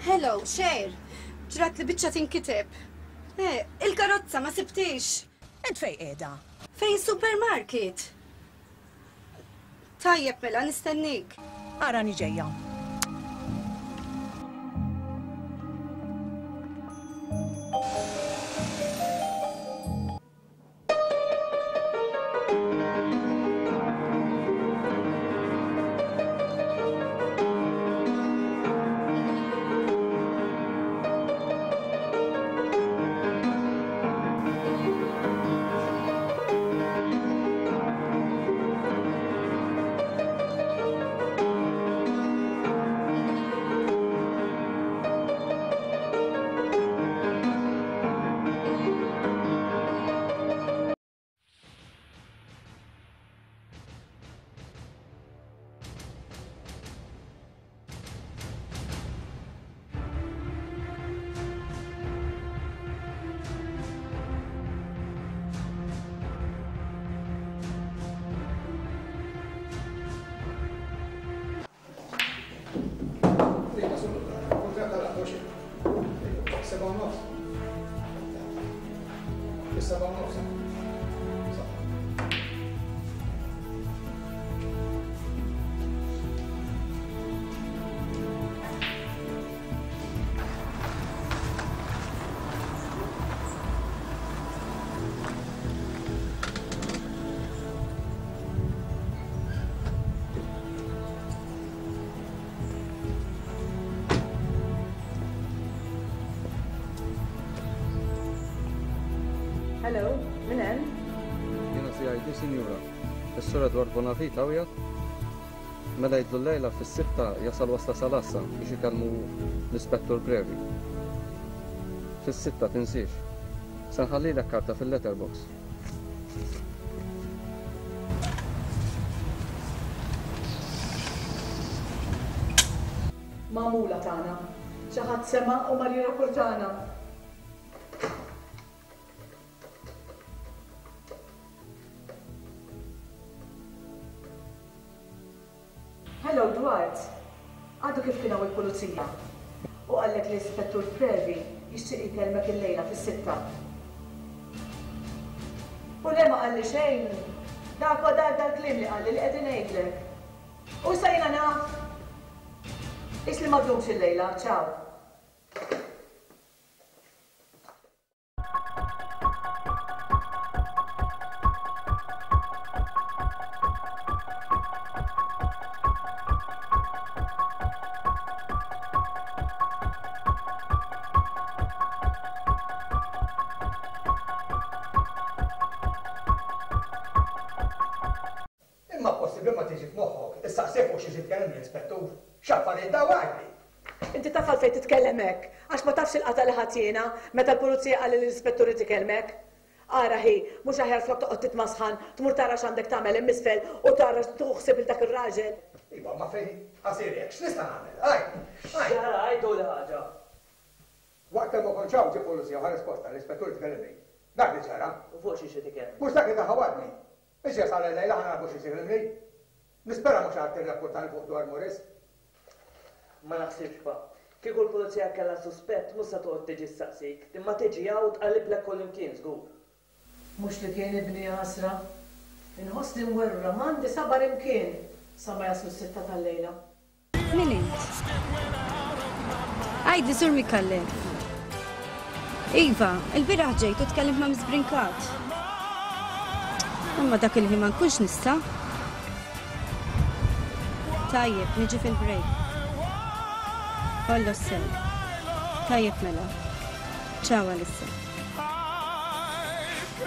Speaker 7: Hello, xejr. Ġrat li biċċa tinkiteb. Eh, il-karozza ma sibtix.
Speaker 5: Int fej qiegħda?
Speaker 7: Fejn supermarket. Tajjeb mela nistennik.
Speaker 5: Arani ġejja. Hello, min hemm?
Speaker 9: Jiena CID, sinjura. Is-Sur Edward Bonavita u jgħid? Mela jidlu llejla fis-sitta jasal wasla sal-għassa biex ikellmu l-Ispettur Previ. Fis-sitta tinsiex. Se nħallilek karta fil-letterbox.
Speaker 5: Magħmula tagħna. Xi ħadd sema' u mar jirrapportana. Hello Dward. Għadu kif kien hawn il-pulizija u qallek li l-Ispettur Previ jixtieq jkellmek illejla fis-sitta. U le ma qalli xejn. Dak huwa dal-kliem li qalli li qed ingħidlek. U issa jiena naf. Qis li ma ddumx illejla. Ciao.
Speaker 13: Imma possibbli ma tiġi f'moħħok issaqsih fuq xiex jitkellem l-Ispettur? X'affarijiet dawn għajbli!
Speaker 5: Inti taf għalfejn titkellem hekk, għax ma tafx il-qatgħa li ħadt jiena meta l-pulizija qalli li l-ispettur irid ikellmek. Ara ħi, mhux aħjar flok toqgħod titmasħan, tmur tara x'għandek tagħmel hemm isfel u tara tieħu ħsieb lil dak ir-raġel?
Speaker 13: Iva, ma fejn qasir hekk, x'nista' nagħmel? Għid! Għid!
Speaker 16: X'ġara? Għiduli ħaġa.
Speaker 13: Waqt li ma kontx hawn ġie pulizija u ħa risposta, l-ispettur irid ikellimni. Dak li ġara.
Speaker 16: U fuq xiex irid ikellmek?
Speaker 13: Mhux dak li ta ħawadni. Ix jasal illejla ħa narafu x'isir ilni.
Speaker 4: Nispera mhux għad tirrapportani fuq dwar Morris.
Speaker 16: Ma naħsibx, pa. Kieku l-pulizija kellha suspett mhux se toqgħod tiġi ssaqsik, imma tiġi hawn u tqalliblek kullimkien żgur.
Speaker 5: Mhux li kien ibni jaħasra. Inħossni mwerwra, m'għandi sabar imkien sa ma jaslu s-sitta tal-lejla.
Speaker 7: Min int? Għidli, Sur Micallef. Iva, ilbieraħ ġejt u tkellimt ma' Miss Brincat. Imma dak il-ħin ma nkunx nista'. Tajjeb, niġi fil-break. Kollox sew. Tajjeb mela. Ciao għalissa.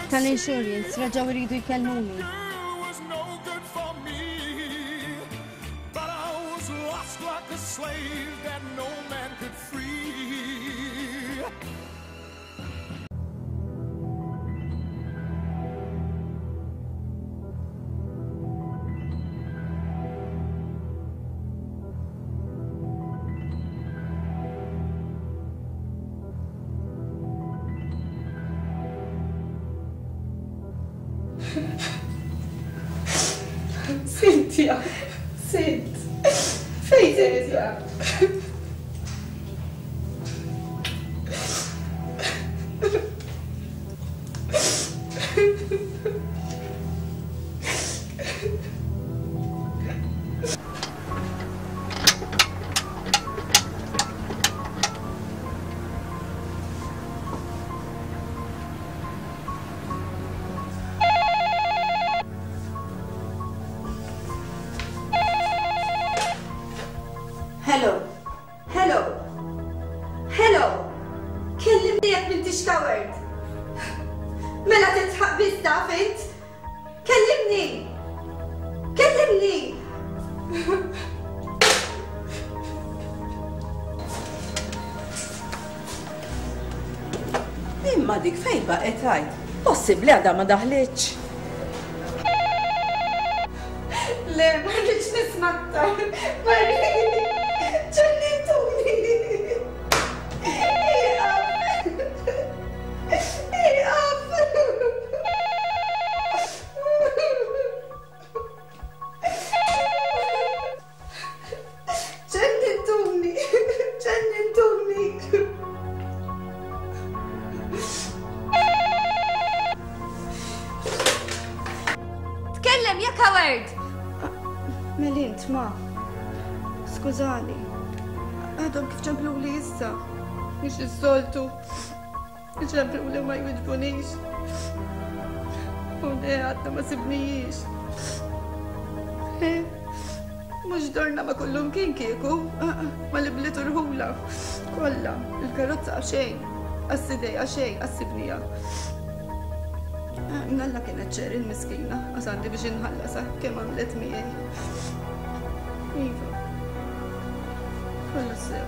Speaker 7: Tal-insurance reġgħu jridu jkellmuni.
Speaker 5: Cynthia, Sint, fejn Cynthia?
Speaker 7: Hello! Hello! Hello! Kellimni jekk m'intix coward! Mela titħaq biss taf int? Kellimni! Kellimni!
Speaker 1: Imma dik fejn baqgħet tgħid? Possibbli għadha ma daħlitx?
Speaker 7: Le, ma rridx nisma' aktar. Ma rridx. Ġennintuni. Ieqaf. Ieqaf. Ġennintuni! Ġennintuni!
Speaker 19: Tkellem, ja coward!
Speaker 7: Melint, ma. Skużani. Għadhom kif ċempluli issa. Mhix is-soltu. Iċempluli u ma jwiġbunix. U le għadna ma sibnijiex. Mux dorna ma kullum kien kieku, ma li bliet urħula. Kolla, il-karozza xejn, għas-sideja xejn, għas-sibnija. Mnalla kienet ċer il-miskina, għasandi biex inħallasa kemm għamlet miegħi. Iva. Kollu sew.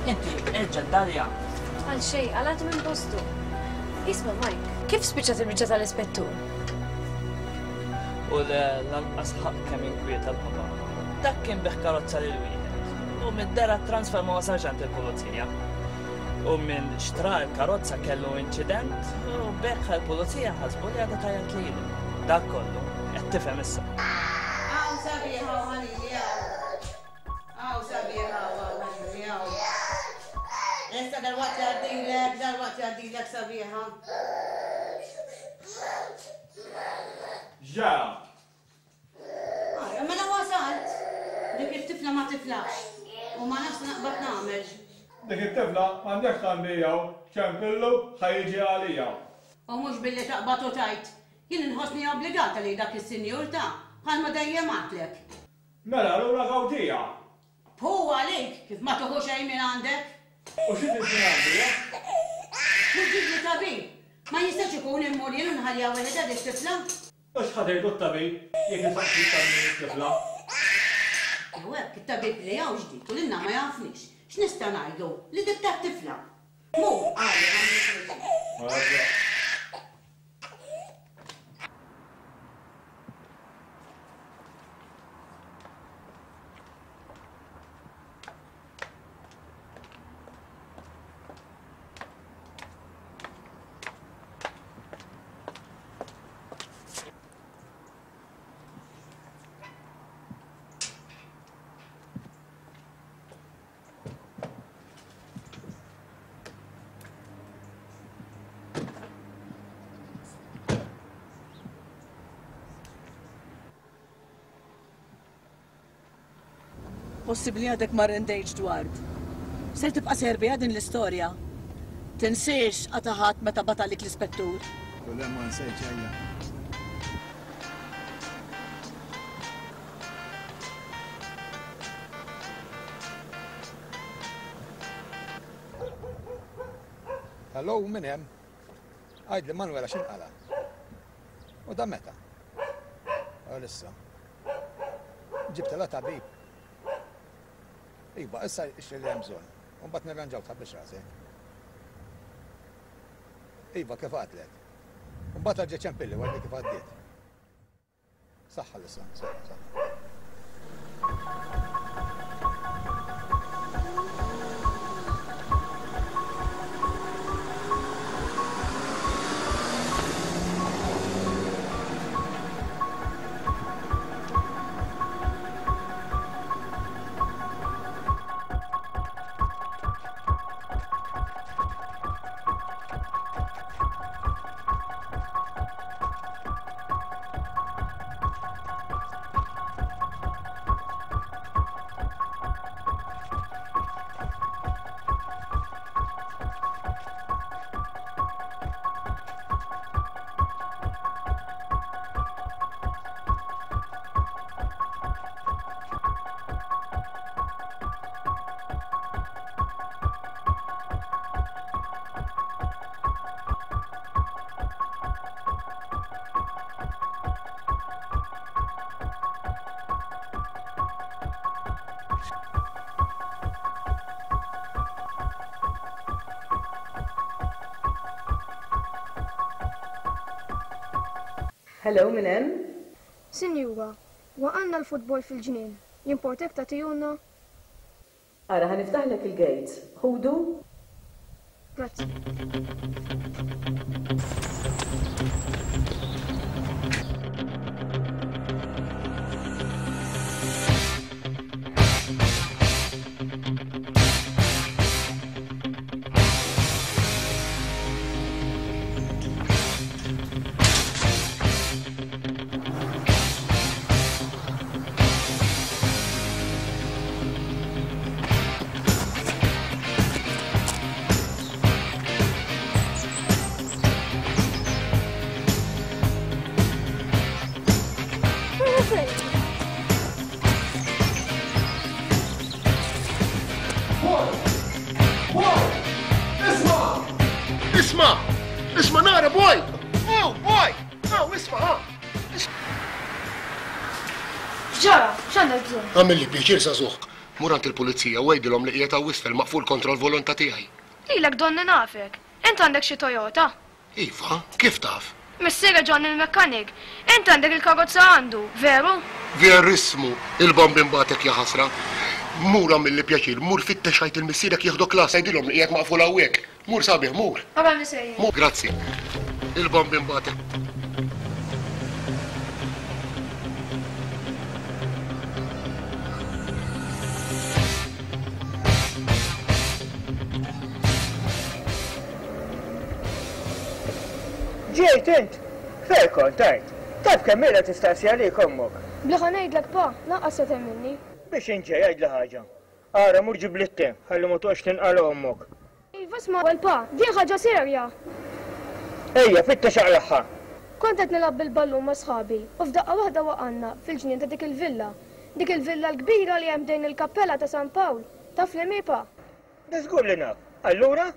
Speaker 16: Inti, erġa' d-dar ja.
Speaker 19: Għal xejn, qalgħatu minn postu. Isma' Mike, kif spiċċat il-biċċa tal-ispettur?
Speaker 16: U le lanqas ħaqq kemm inkwieta l-papa. Dak kien biegħ karozza lil wieħed u mid-dehra t-transfer ma wasalx għand il-pulizija. U min xtra l-karozza kellu inċident u b'hekk il-pulizija ħasbu li għadha tgħajjat lilu. Dak kollu, qed tifhem issa.
Speaker 18: Hawn sabiħa u ħalili hawn. Hawn sabiħa u ħalili hawn. Issa dalwaqt jgħaddilek, dalwaqt jgħaddilek sabiħa.
Speaker 6: X'ġara?
Speaker 18: Ara, mela wasalt! Dik it-tifla ma tiflaħx u ma nafx naqbad nagħmel.
Speaker 6: Dik it-tifla m'għandekx tgħandija hawn, ċempillu ħa jiġi għalija.
Speaker 18: U mhux billi taqbad u tgħid, jien inħossni obbligata lejn dak is-sinjur ta, bħalma dejjem għadtlek.
Speaker 6: Mela allura gawdija!
Speaker 18: Phu għalik, kif ma tieħu xejn minn għandek!
Speaker 6: U xi trid minn għandi, eh?
Speaker 18: Mhux ġibli tabib! Ma jistax ikun immur jien u nħalliha weħidha dik tifla!
Speaker 6: U x'ħa tgħidlu t-tabib jekk isaqsik għal min hi t-tifla?
Speaker 18: Jew hekk, it-tabib li hawn ġdid u lilna ma jafniex. X'nista' ngħidlu? Li dik tat-tifla! Mur, għali, għamli xi.
Speaker 5: Possibbli għadek ma rrendejtx Dward. Ser tibqa' sejjer biha din l-istorja? Tinsiex x'qata' ħadt meta bagħat għalik l-ispettur.
Speaker 4: U le ma nsejtx ejja. Hello, min hemm? Għidli Manuela x'inqala'? U dan meta? Għalissa. Ġibtilha tabib. Iva, issa ixtri li hemm bżonn. U mbagħad nirranġaw tħabbix rasek. Iva, kif għadlek. U mbagħad erġa' ċempilli wara kif għaddiet. Saħħa l-issa, saħħa, saħħa.
Speaker 5: Hello, min hemm?
Speaker 8: Sinjura, waqgħalna l-futbol fil-ġnien. Jimportek tagħtihulna?
Speaker 5: Ara, ħa niftaħlek il-gate. Ħudu.
Speaker 8: Grazzi.
Speaker 12: Isma! Isma nara, boy! Oh, boy! Oh, isma, ha!
Speaker 8: X'ġara? X'għandek bżonn?
Speaker 12: Għamilli pjaċir żagħżugħ. Mur għand il-pulizija u għidilhom li qiegħed hawn isfel maqful kontra l-volontà tiegħi.
Speaker 8: Lilek donni nafek. Int għandek xi Toyota?
Speaker 12: Iva, kif taf?
Speaker 8: Missierek John il-mekkanik. Int għandek il-karozza għandu, veru?
Speaker 12: Verissmu! Il-bambin bagħtek jaħasra. Mur għamilli pjaċir, mur fittex għid 'il missierek jieħdok l-għassa għidilhom li qiegħed maqful hawnhekk. Mur sabiħ, mur.
Speaker 8: Arani sejjer.
Speaker 12: Mur, grazzi. Il-bambin bagħtek.
Speaker 15: Ġejt int? Fejn kont għid? Taf kemm ilha tistaqsi għalik ommok?
Speaker 8: Bli ħa ngħidlek pa, lanqas se temminni.
Speaker 15: Biex int ġej għidli ħaġa. Ara mur ġibli t-te, ħalli ma toqgħodx tinqala' ommok.
Speaker 8: Iva isma' l-ewwel pa, din ħaġa serja!
Speaker 15: Ejja, fittex aqlagħha!
Speaker 8: Kont qed nilgħab bil-ballun ma' sħabi u f'daqqa waħda waqgħanna fil-ġnien ta' dik il-villa. Dik il-villa l-kbira li hemm ħdejn il-kappella ta' San Pawl. Taf liema hi pa?
Speaker 15: Dażgur li naf. Allura?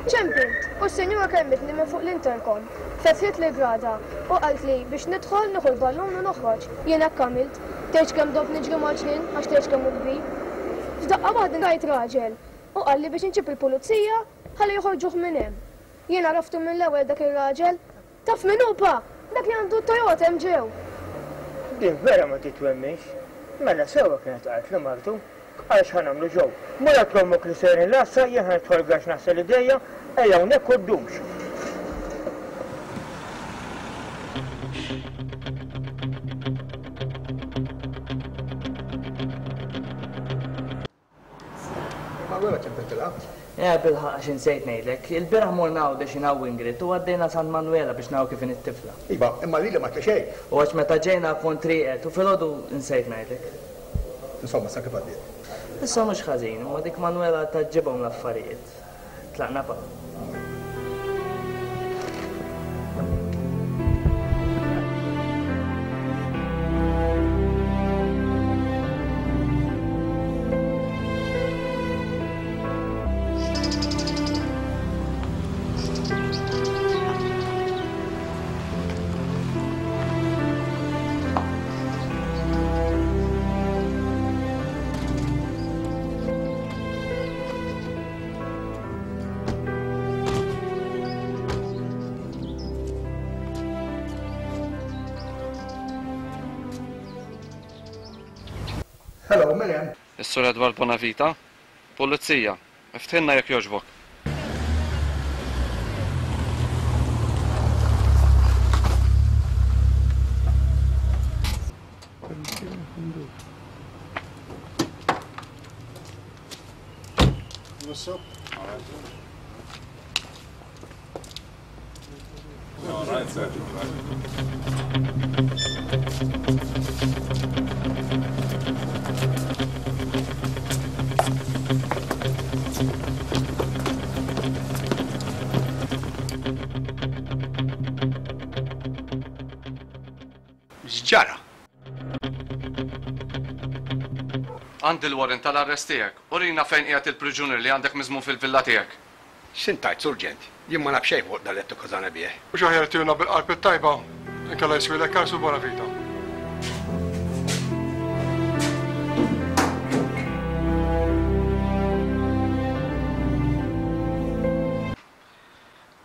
Speaker 8: Ċempilt, u s-sinjura kellmitni minn fuq l-intercom. Fetħitli l-grada u qaltli biex nidħol nieħu l-ballun u noħroġ. Jien hekk għamilt. Tgħidx kemm domt niġri mal-ġnien għax tgħidx kemm hu kbir. F'daqqa waħda rajt raġel u qalli biex inġib il-pulizija ħalli joħorġuh minn hemm. Jien għaraftu mill-ewwel dak ir-raġel. Taf min hu, pa? Dak li għandu t-Toyota hemm ġew.
Speaker 15: Din vera ma titwemminx. Mela sewwa kienet qaltlu martu. Ara x'ħa nagħmlu Joe. Mur għid l-ommok li sejrin l-għassa, jien ħa nidħol l-garaxx naħsel idejja, ejja hawnhekk u ddumx.
Speaker 4: Imma allura kemm tilgħab?
Speaker 16: Eh, bilħaqq għax insejt ngħidlek. Ilbieraħ morna Għawdex jien u Ingrid u għaddejna San Manwela biex naraw kif inhi t-tifla.
Speaker 4: Iva, imma lili m'għedtli xejn.
Speaker 16: U għax meta ġejna kont rieqed u filgħodu nsejt ngħidlek.
Speaker 4: Insomma, sa kif għaddiet?
Speaker 16: Issa mhux ħażin, imma dik Manuela tgħaġġibhom l-affarijiet. Tlaqna pa.
Speaker 4: Hello, min hemm?
Speaker 9: Is-Sur Edward Bonavita? Pulizija, iftħilna jekk jogħġbok.
Speaker 20: X'ġara?
Speaker 9: Għandi l-warrant tal-arrest tiegħek. Urina fejn qiegħed il-priġunier li għandek miżmum fil-villa tiegħek.
Speaker 4: X'int tgħid, Surġent? Jien ma naf xejn fuq dan li qed tikkużana bih.
Speaker 13: Mhux aħjar ittirna bil-qalb it-tajba, inkella jiswielek kar Sur Bonavita.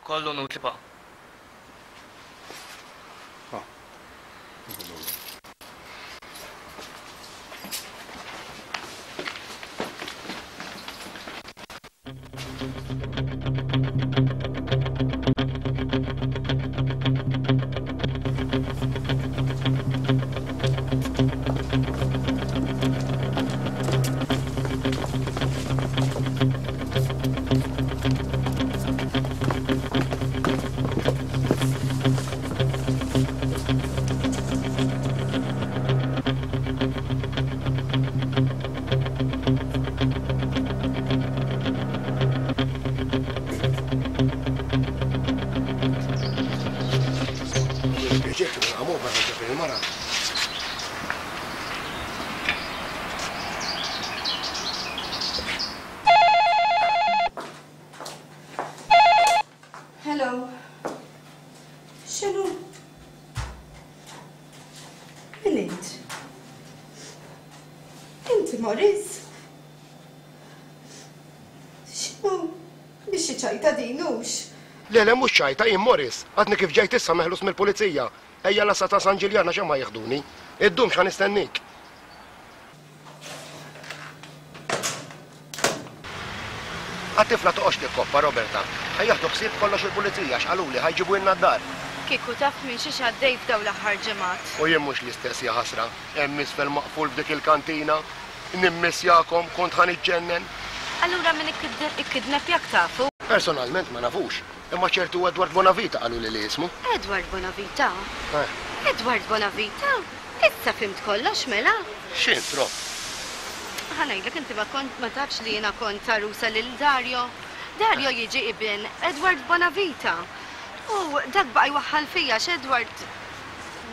Speaker 16: Kollu nutli pa.
Speaker 7: Hello. X'inhu? Min int? Inti Maurice? X'inhu? Biex xi ċajta din hux?
Speaker 12: Le, le, mhux ċajta, jien Morris. Għadni kif ġejt issa meħlus mill-pulizija. Ejja l-għassa ta' San Ġiljan għax hemm ħa jieħduni. Iddumx ħa nistennik. Għat-tifla toqgħodx tikkoppa, Roberta. Ħa jieħdu ħsieb kollox il-pulizija għax qaluli ħa jġibuhielna d-dar.
Speaker 24: Kieku taf minn xiex għaddej f'dawn l-aħħar ġimgħat.
Speaker 12: U jien mhux l-istess jaħasra. Hemm isfel maqful f'dik il-kantina. Nimmissjakom, kont ħa niġġennen.
Speaker 24: Allura min ikkidneppjak tafu?
Speaker 12: Personalment ma nafux. Imma ċertu Edward Bonavita qaluli li ismu.
Speaker 24: Edward Bonavita?
Speaker 12: Eh.
Speaker 24: Edward Bonavita? Issa fhimt kollox mela?
Speaker 12: X'int, Rob?
Speaker 24: Ħa ngħidlek inti ma kont ma tafx li jiena kont għarusa lil Dario? Dario jiġi ibn Edward Bonavita. U dak baqa' jwaħħal fija għax Edward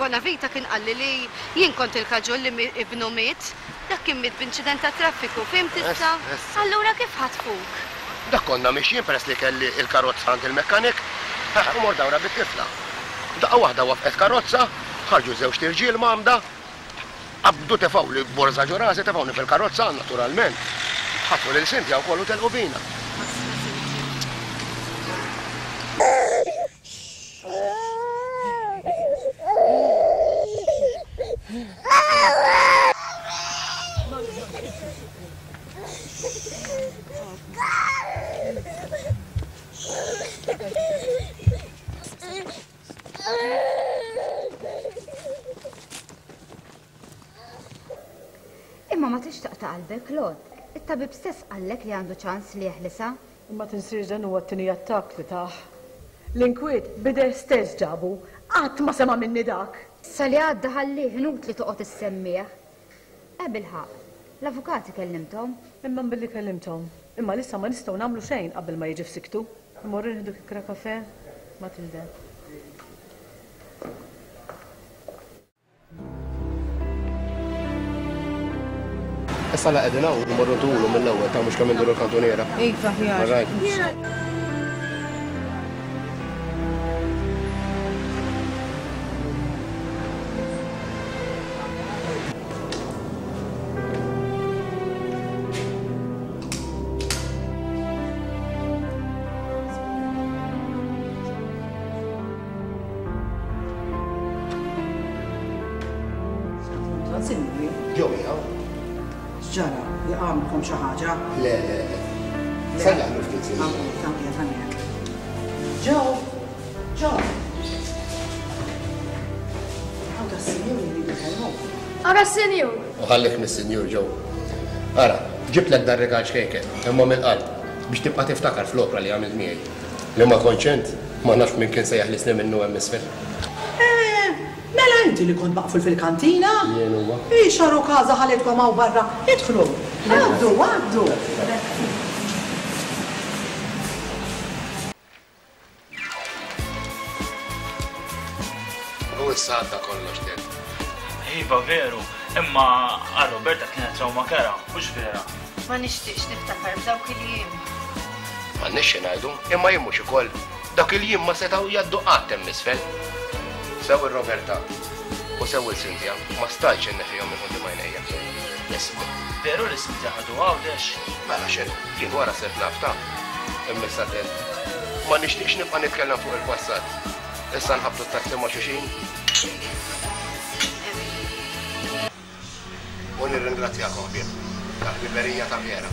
Speaker 24: Bonavita kien qalli li jien kont il-kaġun li ibnu miet. Dak kien miet b'inċident tat-traffiku, fhimt issa? Allura kif ħatfuk?
Speaker 12: Dak konna mixjin peress li kelli l-karozza għand il-mekkanik, u mort dawra bit-tifla. F'daqqa waħda wafqet karozza, ħarġu żewġt irġiel mgħammda, qabdu tefgħuli borża ġo rasi, tefgħuni fil-karozza, naturalment. Ħatfu lil Cynthia wkoll u telqu bina.
Speaker 24: Imma ma tridx taqta' qalbek, Claude. It-tabib stess qallek li għandu ċans li jeħlisha.
Speaker 5: Imma tinsiex dan huwa t-tieni attakk li tah. L-inkwiet b'idejh stess ġabu. Qatt ma sema' minni dak!
Speaker 24: Issa li għadda ħallih, inutli toqgħod issemmih. Eh bilħaqq. L-avukati kellimthom?
Speaker 5: Imma billi kellimthom. Imma għalissa ma nistgħu nagħmlu xejn qabel ma jiġi f'siktu. Immorru nieħdu kikkra kafè, Matilde.
Speaker 12: Issa la qegħdin hawn immorru ntulu mill-ewwel ta' mhux kemm induru l-kantuniera.
Speaker 18: Iva aħjar.
Speaker 12: All right.
Speaker 11: Sinjuri.
Speaker 12: Ġew miegħu.
Speaker 11: X'ġara? Jaqgħamilkom xi ħaġa?
Speaker 12: Le, le, le. Sa jagħmlu ftit sinjuri.
Speaker 11: Tagħmel tagħmel. Ġew, ġew. Hawn tas-sinjuri jridu jkellmuk.
Speaker 8: Ara s-sinjur.
Speaker 12: U ħallik mis-sinjur ġew. Ara, ġibtlek dar rigal ċkejken, imma mill-qalb, biex tibqa' tiftakar fl-opra li għamilt miegħi. Li ma kontx int, ma nafx min kien se jeħlisni minnu hemm isfel.
Speaker 11: Eh, mela inti li kont maqful fil-kantina?
Speaker 12: Jien huwa.
Speaker 11: Hi x'għarukaża ħalejtkom hawn barra. Idħlu. Għaddu, għaddu.
Speaker 12: U issa għadda kollox, Ted.
Speaker 3: Iva veru, imma għal Roberta kienet trawma kerha, hux vera?
Speaker 7: Ma nixtieqx niftakar f'dawk il-jiem.
Speaker 12: M'għandniex xi ngħidu, imma jien mhux ukoll. Dawk il-jiem ma setgħu jgħaddu qatt hemm isfel. Sew 'il Roberta u sew 'il Cynthia ma stajtx inneħħihom minn quddiem għajnejja. Isma'.
Speaker 3: Veru li Cynthia ħadu Għawdex?
Speaker 12: Mela x'inhu, jien wara sirt naf ta'. Imma issa Ted, ma nixtieqx nibqa' nitkellem fuq il-passat. Issa nħabbtu t-tazzi ma' xulxin. U nirringrazzjakom ħbieb, tal-ħbiberija ta' vera.